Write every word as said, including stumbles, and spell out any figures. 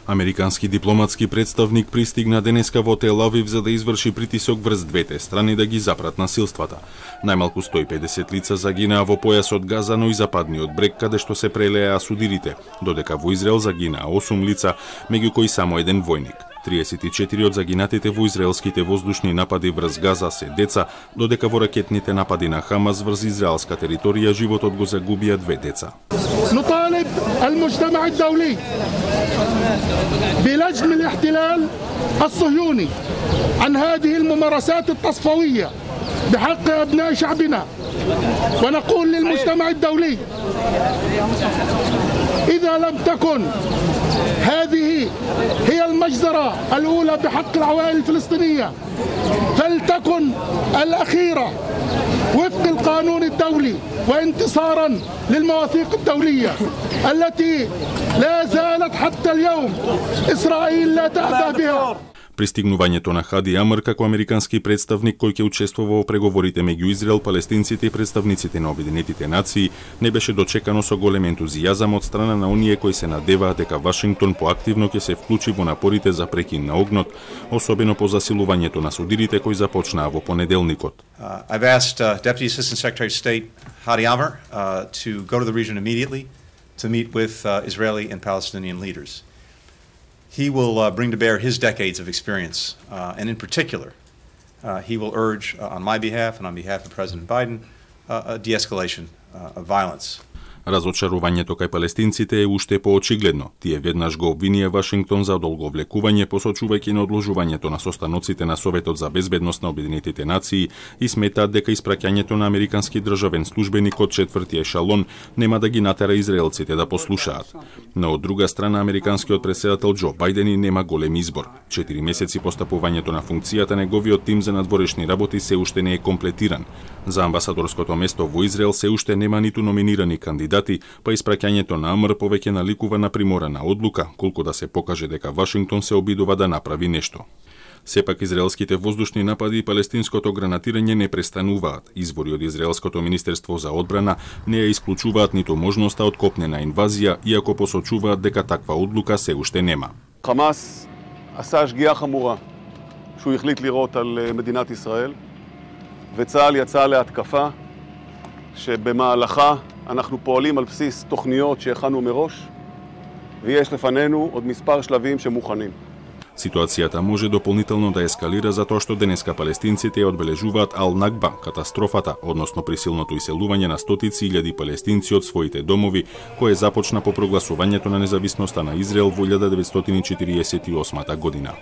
Американски дипломатски представник пристигна денеска во Тел Авив за да изврши притисок врз двете страни да ги запрат насилствата. Најмалку сто и педесет лица загинаа во појасот Газа, но и западниот брег, каде што се прелеа судирите, додека во Израел загинаа осум лица, меѓу кои само еден војник. триесет и четири од загинатите во израелските воздушни напади врз Газа се деца, додека во ракетните напади на Хамас врз израелска територија животот го загубија две деца. نطالب المجتمع الدولي بلجم الاحتلال الصهيوني عن هذه الممارسات التصفوية بحق أبناء شعبنا، ونقول للمجتمع الدولي إذا لم تكن هذه هي المجزرة الأولى بحق العوائل الفلسطينية فلتكن الأخيرة وفق القانون الدولي وانتصارا للمواثيق الدولية التي لا زالت حتى اليوم إسرائيل لا تأبه بها. Пристигнувањето на Хади Амар како американски представник кој ќе учествува во преговорите меѓу Израел, палестинците и представниците на Обединетите нации не беше дочекано со голем ентузијазам од страна на оние кои се надеваат дека Вашингтон поактивно ќе се вклучи во напорите за прекин на огнот, особено по засилувањето на судирите кои започнаа во понеделникот. Uh, I've asked uh, Deputy Assistant Secretary of State Hadi Amr uh, to go to the region immediately to meet with uh, Israeli and Palestinian leaders. He will uh, bring to bear his decades of experience, uh, and in particular, uh, he will urge uh, on my behalf and on behalf of President Biden uh, a de-escalation uh, of violence. Разочарувањето кај палестинците е уште поочигледно. Тие веднаш го обвинија Вашингтон за одолговлекување, посочувајќи на одложувањето на состаноците на Советот за безбедност на Обединетите нации и сметаат дека испраќањето на американски државен службеник од четврти ешалон нема да ги натера израелците да послушаат. Но од друга страна, американскиот претседател Џо Бајден и нема голем избор. Четири месеци по стапувањето на функцијата, неговиот тим за надворешни работи се уште не е комплетиран. За амбасадорското место во Израел се уште нема ниту номинирани кандидати, па испраќањето на Амр повеќе наликува на приморана одлука, колку да се покаже дека Вашингтон се обидува да направи нешто. Сепак израелските воздушни напади и палестинското гранатирање не престануваат. Извори од Израелското министерство за одбрана не ја исклучуваат ниту можноста од копнена инвазија, иако посочуваат дека таква одлука се уште нема. חמאס עשה שגיאה חמורה שהוא החליט לירות על מדינת ישראל, וצה"ל יצא להתקפה שבמהלכה אנחנו פועלים על בסיס תוכניות שהכנו מראש, ויש לפנינו עוד מספר שלבים שמוכנים. Ситуацијата може дополнително да ескалира затоа што денеска палестинците одбележуваат Ал-Накба, катастрофата, односно присилното иселување на стотици илјади палестинци од своите домови, кое започна по прогласувањето на независноста на Израел во илјада деветстотини четириесет и осма година.